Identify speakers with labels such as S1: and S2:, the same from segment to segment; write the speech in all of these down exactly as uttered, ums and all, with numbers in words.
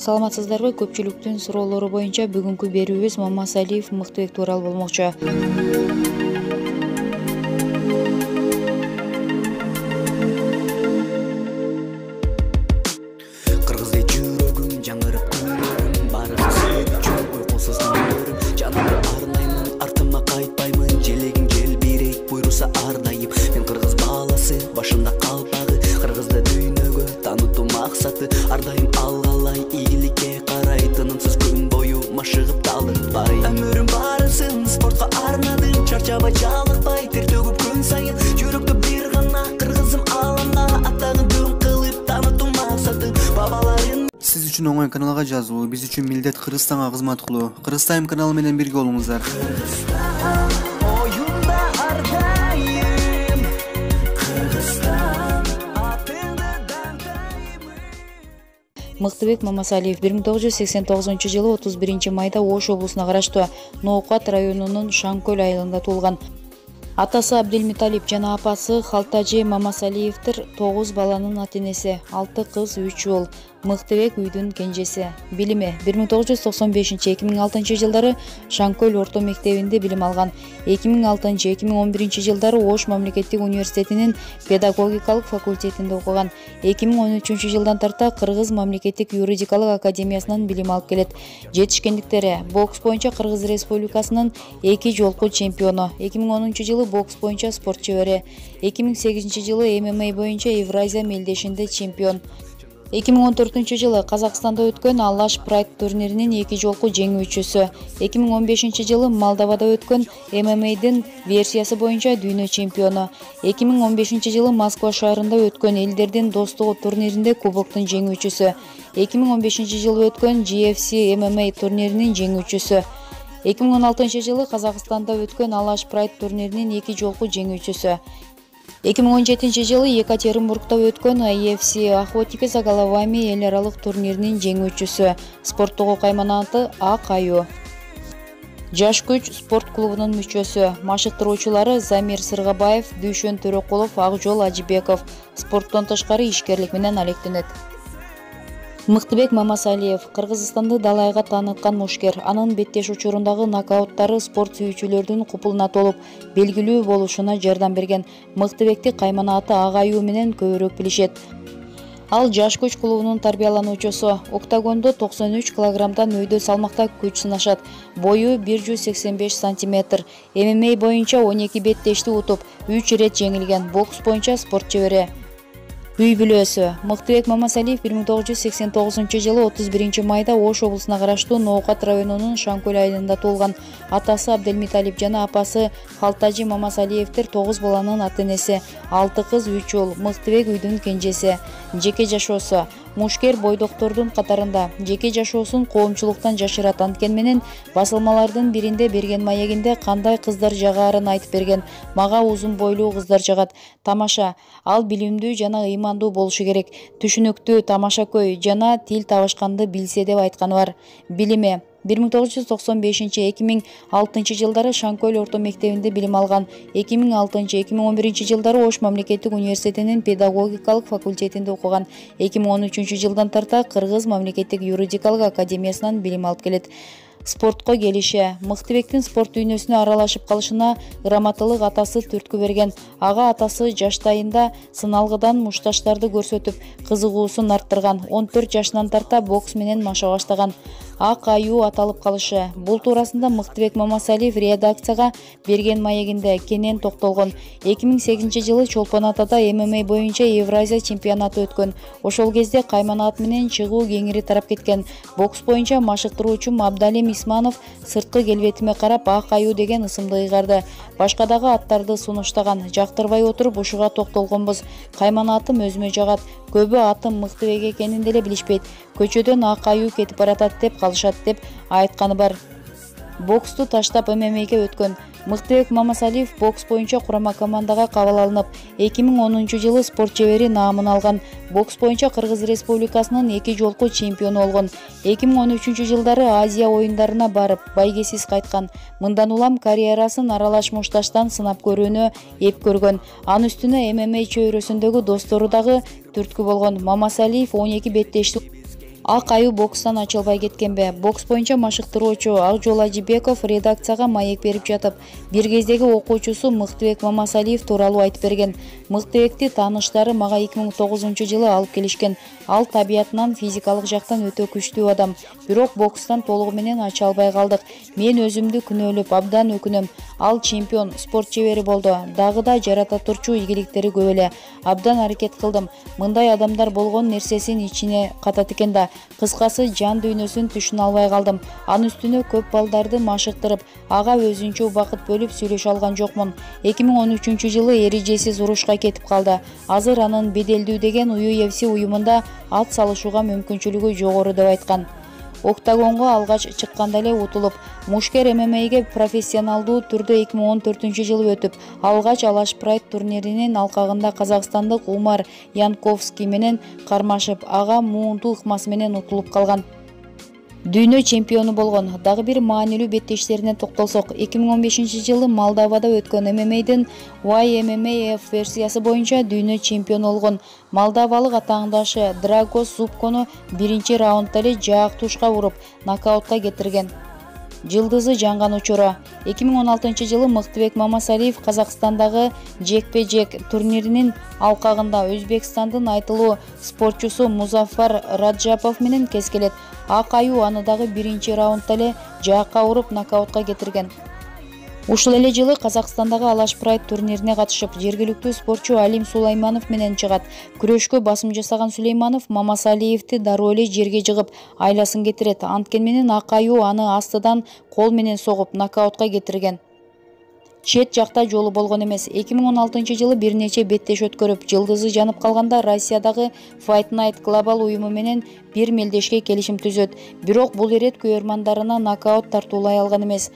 S1: саламатсыздарбы? Көпчүлүктүн суроолору боюнча бүгүнкү берүүбүз Мамасалиев Мыктыбек тууралуу болмокчу.
S2: Кыргызды жүрөгүм жаңырып көрөрүм, баарыңы сүйгүчү уйкусуз күндөрүм. Жанымды арнаймын, артыма кайтпаймын, желегиң желбирейт буйруса ар дайым. Мен кыргыз баласы, башымда калпагы, кыргызды дүйнөгө таанытуу максаты. Ар дайым алгалай, ийгиликке карай, тынымсыз күн бою машыгып талыкпай. Өмүрүм барысын спортко арнадым, чарчабай жалыкпай, тер төгүп күн сайын. Жүрөктө бир гана кыргызым алаңда, атагын дөң кылып таанытуу максаты. Бабаларын
S3: Сиз үчүн оңой каналга жазуу, биз үчүн милдет Кыргызстанга кызмат кылуу. Кыргызтайм каналы менен бирге болуңуздар.
S2: оюнда ар дайым, Кыргызстан атыңды даңкайым.
S1: Мыктыбек Мамасалиев бир миң тогуз жүз сексен тогузунчу жылы отуз биринчи майда Ош облусуна караштуу Ноокат районунун Шаңкөл айылында туулган. Атасы Абделмиталип жана апасы Халтажи Мамасалиевдер тогуз баланын ата-энеси, алты кыз, үч уул. Мыктыбек үйдүн кенжеси. Билими бир миң тогуз жүз токсон бешинчи эки миң алтынчы жылдары Шаңкөл орто мектебинде билим алган. эки миң алтынчы эки миң он биринчи жылдары Ош мамлекеттик университетинин педагогикалык факультетинде окуган. эки миң он үчүнчү жылдан тарта Кыргыз мамлекеттик юридикалык академиясынан билим алып келет. Жетишкендиктери: бокс боюнча Кыргыз Республикасынын эки жолку чемпиону, эки миң онунчу жылы бокс боюнча спорт чебери, эки миң сегизинчи жылы эм эм а боюнча Евразия мелдешинде чемпион. эки миң он төртүнчү жылы Казакстанда өткөн Алаш Прайд турниринин эки жолку жеңүүчүсү, эки миң он бешинчи жылы Молдовада өткөн эм эм a'дин версиясы боюнча дүйнө чемпиону, эки миң он бешинчи жылы Москва шаарында өткөн элдердин достугу турниринде кубоктун жеңүүчүсү, эки миң он бешинчи жылы өткөн джи эф си эм эм а турниринин жеңүүчүсү, эки миң он алтынчы жылы Казакстанда өткөн Алаш Прайд турниринин эки жолку жеңүүчүсү, эки миң он жетинчи жылы Екатеринбургда өткөн ай эф си Охотники за головами эл аралык турниринин жеңүүчүсү, спорттогу кайманаты Ак аюу. Жаш күч спорт клубунун мүчөсү, машыктыруучулары Замир Сыргабаев, Дүйшөн Төрөкулов, Акжол Ажибеков. Спорттон тышкары ишкерлик менен алектенет. Мыктыбек Мамасалиев Кыргызстанды далайга тааныткан мушкер. Анын беттеш учурундагы нокауттары спорт сүйүүчүлөрдүн купулуна толуп, белгилүү болушуна жардам берген. Мыктыбекти кайманаты Ак аюу менен көбүрөөк билишет. Ал жаш күч клубунун тарбиялануучусу. Октагондо токсон үч килограммдан өйдө салмакта күч сынашат. Бою бир жүз сексен беш сантиметр. эм эм а боюнча он эки беттешти утуп, үч ирет жеңилген. Бокс боюнча спорт чебери. Үй бүлөсү. Мыктыбек Мамасалиев бир миң тогуз жүз сексен тогузунчу жылы отуз биринчи майда Ош облусуна караштуу Ноокат районунун Шаңкөл айылында туулган. Атасы Абделмиталип жана апасы Халтажи Мамасалиевдер тогуз баланын ата-энеси, алты кыз, үч уул. Мыктыбек үйдүн кенжеси. Жеке жашоосу. Мушкер бойдоктордун катарында. Жеке жашоосун коомчулуктан жашырат, анткени менен басылмалардын биринде берген маегинде кандай кыздар жагаарын айтып берген. Мага узун бойлуу кыздар жагат. Тамаша. Ал билимдүү жана ыймандуу болушу керек. Түшүнүктүү, тамашакөй жана тил табышканды билсе деп айтканы бар. Билими бир миң тогуз жүз токсон бешинчи эки миң алтынчы жылдары Шаңкөл орто мектебинде билим алган. эки миң алтынчы эки миң он биринчи жылдары Ош мамлекеттик университетинин педагогикалык факультетинде окуган. эки миң он үчүнчү жылдан тарта Кыргыз мамлекеттик юридикалык академиясынан билим алып келет. Спортко келиши. Мыктыбектин спорт дүйнөсүнө аралашып калышына грамоталык атасы түрткү берген. Ага атасы жаштайында сыналгыдан мушташтарды көрсөтүп, кызыгуусун арттырган. он төрт жашынан тарта бокс менен маша баштаган. Ак аюу аталып калышы. Бул туурасында Мыктыбек Мамасалиев редакцияга берген маегинде кенен токтолгон. эки миң сегизинчи жылы Чолпон Атада эм эм а боюнча Евразия чемпионаты өткөн. Ошол кезде кайманат менен чыгуу кеңири тарап кеткен. Бокс боюнча машыктыруучум Абдалим Исманов сырткы келбетиме карап Ак аюу деген ысымды ыйгарды. Башка дагы аттарды сунуштаган. Жактырбай отуруп ушуга токтолгонбуз. Кайманатым өзүмө жагат. Көбү атым Мыктыбек экенин деле билишпейт. Көчөдөн Ак аюу кетип баратат деп калышат деп айтканы бар. Боксту таштап эм эм a'ге өткөн. Мыктыбек Мамасалиев бокс боюнча курама командага кабыл алынып, эки миң онунчу жылы спорт чебери наамын алган. Бокс боюнча Кыргыз Республикасынын эки жолку чемпиону болгон. эки миң он үчүнчү жылдары Азия оюндарына барып, байгесиз кайткан. Мындан улам карьерасын аралаш мушташтан сынап көрүүнү эп көргөн. Анын үстүнө эм эм а чөйрөсүндөгү достору дагы түрткү болгон. Мамасалиев он эки беттешти Ак аюу бокстан ачылбай кеткенби? Бокс боюнча машыктыруучу Акжол Ажибеков редакцияга маек берип жатып, бир кездеги окуучусу Мыктыбек Мамасалиев тууралуу айтып берген. Мыктыбекти тааныштары мага эки миң тогузунчу жылы алып келишкен. Ал табиятынан физикалык жактан өтө күчтүү адам. Бирок бокстан толугу менен ача албай калдык. Мен өзүмдү күнөөлөп абдан өкүнөм. Ал чемпион, спорт чебери болду. Дагы да жарата турчу ийгиликтери көп эле. Абдан аракет кылдым. Мындай адамдар болгон нерсесин ичине катат экен да. Кыскасы жан дүйнөсүн түшүнө албай калдым. Анын үстүнө көп балдарды машыктырып, ага өзүнчө убакыт бөлүп сүйлөшө алган жокмун. эки миң он үчүнчү жылы эрежесиз урушка кетип калды. Азыр анын беделдүү деген ю эф си уюмунда ат салышууга мүмкүнчүлүгү жогору деп айткан. Октагонго алгач чыкканда эле утулуп, Мушкер эм эм эге профессионалдуу түрдө эки миң он төртүнчү жылы өтүп, алгач Алаш Прайд турниринин алкагында казакстандык Умар Янковский менен кармашып, ага муунтуу ыкмасы менен утулуп калган. Дүйнө чемпиону болгон. Дагы бир маанилүү беттештерине токтолсок, эки миң он бешинчи жылы Молдовада өткөн эм эм эдин Y M M A F версиясы боюнча дүйнө чемпиону болгон. Молдовалык атаандашы Драгос Зубкону биринчи раундда эле жаак тушка уруп, нокаутка кетирген. Жылдызы жанган учуру. эки миң он алтынчы жылы Мыктыбек Мамасалиев Казакстандагы жекпе-жек турниринин алкагында Өзбекстандын айтылуу спортчусу Музаффар Раджапов менен кескелет. Ак аюу аны дагы биринчи раундда эле жаакка уруп, нокаутка кетирген. Ушул эле жылы Казакстандагы Алаш Прайд турнирине катышып, жергиликтүү спортчу Алим Сулайманов менен чыгат. Күрөшкө басым жасаган Сулейманов Мамасалиевди дароо эле жерге жыгып, айласын кетирет. Анткен менен ак аюу аны астыдан кол менен согуп, нокаутка кетирген. Чет жакта жолу болгон эмес. эки миң он алтынчы жылы бир нече беттеш өткөрүп, жылдызы жанып калганда Россиядагы Fight Night Global уюму менен бир мелдешке келишим түзөт. Бирок бул ирет күйөрмандарына нокаут тартуулай алган эмес.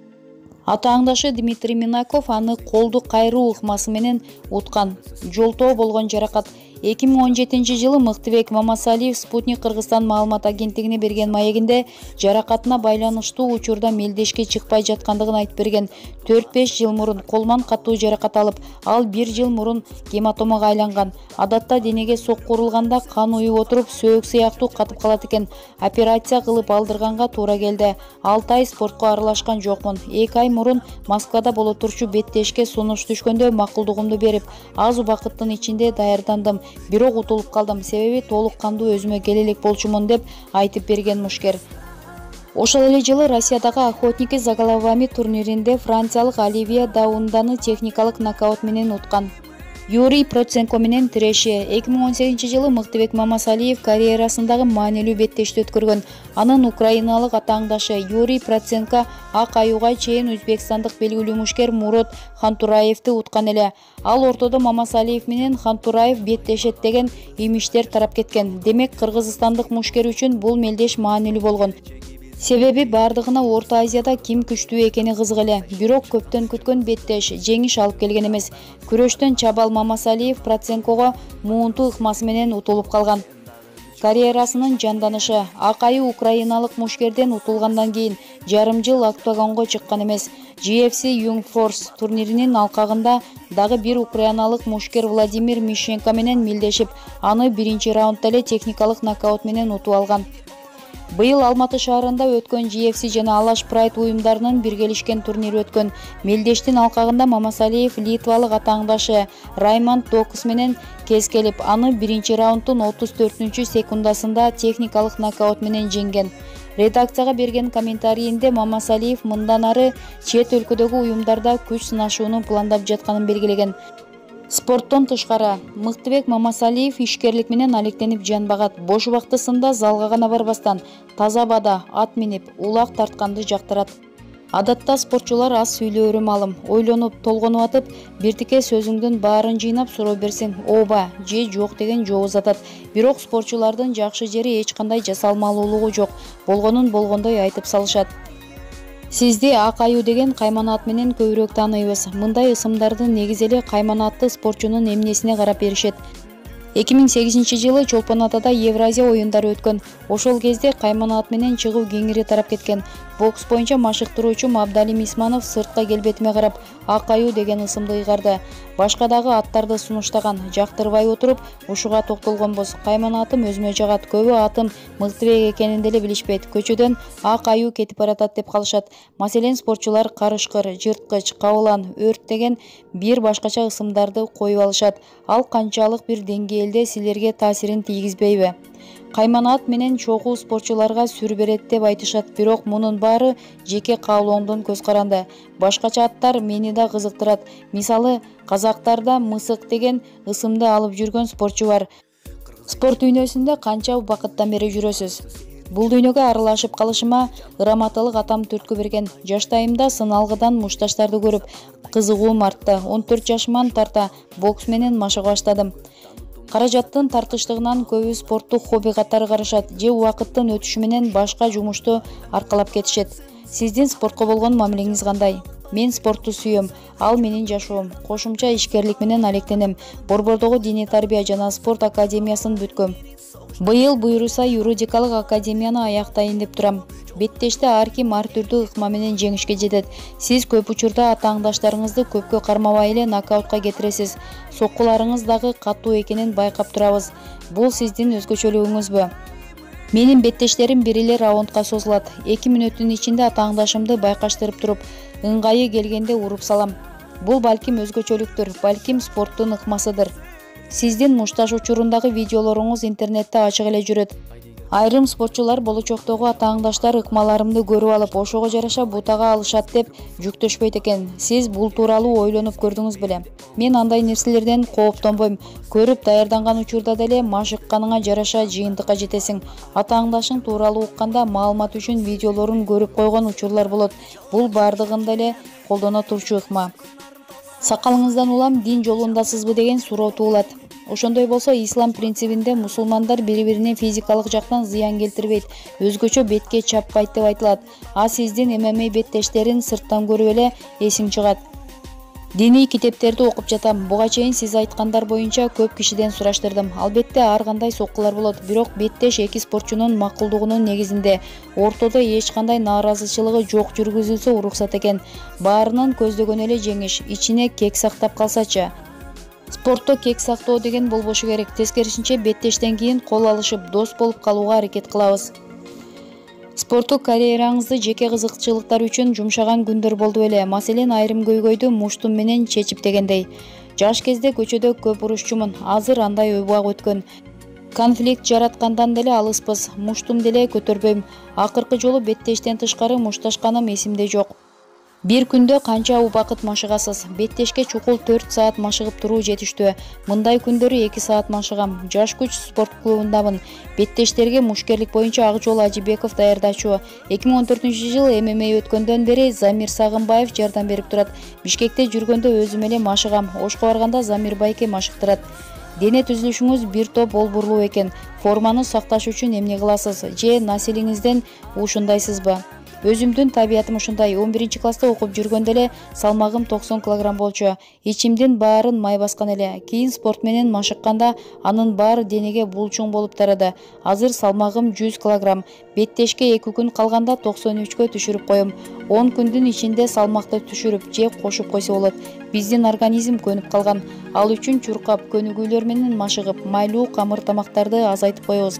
S1: Атаандашы Дмитрий Минаков аны колду кайруу ыкмасы менен уткан. Жолтоо болгон жаракат. эки миң он жетинчи жылы Мыктыбек Мамасалиев Спутник Кыргызстан маалымат агенттигине берген маегинде жаракатына байланыштуу учурда мелдешке чыкпай жаткандыгын айтып берген. төрт беш жыл мурун колман катуу жаракат алып, ал бир жыл мурун гематомага айланган. Адатта денеге сокку урулганда кан уюп отуруп, сөөк сыяктуу катып калат экен. Операция кылып алдырганга туура келди. алты ай спортко аралашкан жокмун. эки ай мурун Москвада боло турчу беттешке сунуш түшкөндө макулдугумду берип, аз убакыттын ичинде даярдандым. Бирок утулуп калдым, себеби толук кандуу өзүмө келе элек болчумун деп айтып берген Мушкер. Ошол эле жылы Россиядагы Охотники за головами турниринде франциялык Оливия Даунданы техникалык нокаут менен уткан. Юрий Проценко менен тиреши. эки миң он сегизинчи жылы Мыктыбек Мамасалиев карьерасындагы маанилүү беттешти өткөргөн. Анын украиналык атаандашы Юрий Проценко ак аюуга чейин өзбекстандык белгилүү мушкер Мурод Хантураевди уткан эле. Ал ортодо Мамасалиев менен Хантураев беттешет деген имиштер тарап кеткен. Демек, кыргызстандык мушкер үчүн бул мелдеш маанилүү болгон. Себеби бардыгына Орто Азияда ким күчтүү экени кызык эле. Бирок көптөн күткөн беттеш жеңиш алып келген эмес. Күрөштөн Чабал Мамасалиев Проценкого муунтуу ыкмасы менен утулуп калган. Карьерасынын жанданышы. Ак аюу украиналык мушкерден утулгандан кийин жарым жыл октагонго чыккан эмес. G F C Young Force турниринин алкагында дагы бир украиналык мушкер Владимир Мишенко менен мелдешип, аны биринчи раундда эле техникалык нокаут менен утуп алган. Быйыл Алматы шаарында өткөн G F C жана Алаш Прайд уюмдарынын биргелишкен турнири өткөн. Мелдештин алкагында Мамасалиев литвалык атаандашы Раймонд Докус менен кескелип, аны биринчи раунддун отуз төртүнчү секундасында техникалык нокаут менен жеңген. Редакцияга берген комментарийинде Мамасалиев мындан ары чет өлкөдөгү уюмдарда күч сынашууну пландап жатканын белгилеген. Спорттон тышкары, Мыктыбек Мамасалиев ишкерлик менен алектенип жанбагат. Бош убактысында залга гана барбастан, таза абада ат минип, улак тартканды жактырат. Адатта спортчулар аз сүйлөөрү маалым. Ойлонуп, толгонуп атып, биртике сөзүңдүн баарын жыйнап суроо берсең, ооба же жок деген жооп узатат. Бирок спортчулардын жакшы жери эч кандай жасалмалуулугу жок. Болгонун болгондой айтып салышат. Сизди ак аюу деген кайманат менен көбүрөөк тааныйбыз. Мындай ысымдарды негизи эле кайманатты спортчунун эмнесине карап беришет. эки миң сегизинчи жылы Чолпон Атада Евразия оюндары өткөн. Ошол кезде Кайман-ат менен чыгуу кеңири тарап кеткен. Бокс боюнча машыктыруучум Абдалим Исманов сыртка келбетиме карап Ак аюу деген ысымды ыйгарды. Башка дагы аттарды сунуштаган. Жактырбай отуруп, ушуга токтолгонбуз. Кайман-атым өзүмө жагат. Көбү атым мыктыбек экенин деле билишпейт. Көчөдөн ак аюу кетип баратат деп калышат. Маселен, спортчулар карышкыр, жырткыч, кабылан, өрт деген бир башкача ысымдарды коюп алышат. Ал канчалык бир деңгээлде силерге таасирин тийгизбейби? Кайман-ат менен чогуу спортчуларга сүр берет деп айтышат, бирок мунун баары жеке каалооңдон көз каранды. Башкача аттар мени да кызыктырат. Мисалы, казактарда мысык деген ысымды алып жүргөн спортчу бар. Спорт дүйнөсүндө канча убакыттан бери жүрөсүз? Бул дүйнөгө аралашып калышыма ыраматылык атам түрткү берген. Жаштайымда сыналгыдан мушташтарды көрүп, кызыгуум артты. он төрт жашыман тарта бокс менен машыга баштадым. Каражаттын тартыштыгынан көбү спортту хобби катары карашат же убакыттын өтүшү менен башка жумушту аркалап кетишет. Сиздин спортко болгон мамилеңиз кандай? Мен спортту сүйөм, ал менин жашоом. Кошумча ишкерлик менен алектенем. Борбордогу диний тарбия жана спорт академиясын бүткөм. Быйыл буйруса юридикалык академияны аяктайын деп турам. Беттеште ар ким ар түрдүү ыкма менен жеңишке жетет. Сиз көп учурда атааңдаштарыңызды көпкө кармабай эле нокаутка кетиресиз. Соккуларыңыз дагы катуу экенин байкап турабыз. Бул сиздин өзгөчөлүгүңүзбү? Менин беттештерим бир эле раундка созулат. эки мүнөттүн ичинде атааңдашымды байкаштырып туруп, ыңгайы келгенде уруп салам. Бул балким өзгөчөлүктүр, балким спорттун ыкмасыдыр. Сиздин мушташ учурундагы видеолоруңуз интернетте ачык эле жүрөт. Айрым спортчулар болочоктогу атааңдаштар ыкмаларымды көрүп алып, ошого жараша бутага алышат деп жүктөшпөйт экен. Сиз бул тууралуу ойлонуп көрдүңүз беле? Мен андай нерселерден кооптонбойм. Көрүп даярданган учурда деле машыкканыңа жараша жыйынтыкка жетесиң. Атааңдашың тууралуу укканда маалымат үчүн видеолорун көрүп койгон учурлар болот. Бул бардыгында эле колдоно турчу ыкма. Сакалыңыздан улам дин жолундасызбы деген суроо туулат. Ошондой болсо, ислам принцибинде мусулмандар бири-бирине физикалык жактан зыян келтирбейт, өзгөчө бетке чаппайт деп айтылат. А сиздин эм эм а беттештерин сырттан көрүп эле эсиң чыгат. Диний китептерди окуп жатам. Буга чейин сиз айткандар боюнча көп кишиден сураштырдым. Албетте ар кандай соккулар болот, бирок беттеш эки спортчунун макулдугунун негизинде ортодо эч кандай нааразычылыгы жок жүргүзүлсө уруксат экен. Баарынын көздөгөнү эле жеңиш, ичине кек сактап калсачы. Спортто кек сактоо деген болбошу керек. Тескерисинче беттештен кийин кол алышып, дос болуп калууга аракет кылабыз. Спорттук карьераңызды жеке кызыкчылыктар үчүн жумшаган күндөр болду беле? Маселен, айрым көйгөйдү муштум менен чечип дегендей. Жаш кезде көчөдө көп урушчумун. Азыр андай убак өткөн. Конфликт жараткандан деле алыспыз. Муштум деле көтөрбөйм. Акыркы жолу беттештен тышкары мушташканым эсимде жок. Бир күндө канча убакыт машыгасыз? Беттешке чукул төрт саат машыгып туруу жетиштүү. Мындай күндөрү эки саат машыгам. Жаш күч спорт клубундамын. Беттештерге мушкерлик боюнча Акжол Ажибеков даярдачу. эки миң он төртүнчү жылы эм эм а өткөндөн бери Замир Сагынбаев жардам берип турат. Бишкекте жүргөндө өзүм эле машыгам. Ошко барганда Замир Байке машыктырат. Дене түзүлүшүңүз бир топ болбурлуу экен. Форманы сакташ үчүн эмне кыласыз? Же населиңизден ушундайсызбы? Өзүмдүн табиятым ушундай. он биринчи класста окуп жүргөндө эле салмагым токсон килограмм болчу. Ичимдин баарын май баскан эле. Кийин спорт менен машыкканда анын баары денеге булчуң болуп тарады. Азыр салмагым жүз килограмм. Беттешке эки күн калганда токсон үчкө түшүрүп коем. он күндүн ичинде салмакты түшүрүп же кошуп койсо болот. Биздин организм көнүп калган. Ал үчүн чуркап, көнүгүүлөр менен машыгып, майлуу камыр тамактарды азайтып коебуз.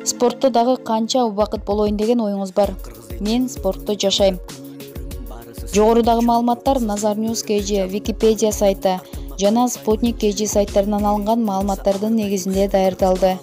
S1: Спортто дагы канча убакыт болоюн деген оюңуз бар? Мен спортто жашайм. Жогорудагы маалыматтар Назар Ньюс кей джи, Википедия сайты жана Спутник кей джи сайттарынан алынган маалыматтардын негизинде даярдалды.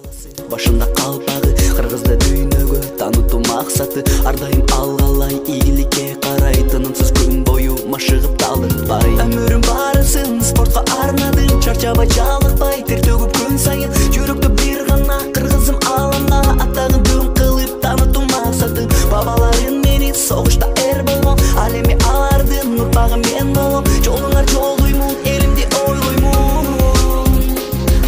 S2: Башында калпагы, кыргызды дүйнөгө таанытуу максаты, ар дайым алгалай ийгиликке карай, тынымсыз күн бою машыгып талыкпай. Өмүрүм барысын спортко арнадым, чарчабай жалыкпай, тер төгүп күн сайын, жүрөктө бир гана кыргызым аламда, атагын дүн кылып таанытуу максаты. Бабаларым мени согушта эр болгон, ал эми алардын урпагы мен болом. Жолуңар жолдоймун, элимди ойлоймун.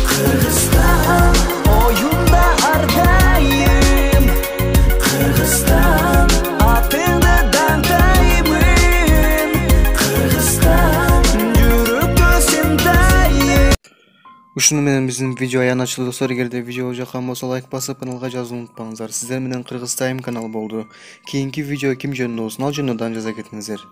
S2: Кыргызстан оюнда ар дайым, Кыргызстан атыңды даңдаймын, Кыргызстан жүрөктө сен дайым.
S3: Ушуну менен биздин видео аянтчылык достор. Эгерде видео жаккан болсо лайк басып, каналга жазууну унутпаңыздар. Сиздер менен Кыргыз Тайм каналы болду. Кийинки видео ким жөнүндө болсун, ал жөнүндө дагы жаза кетиңиздер.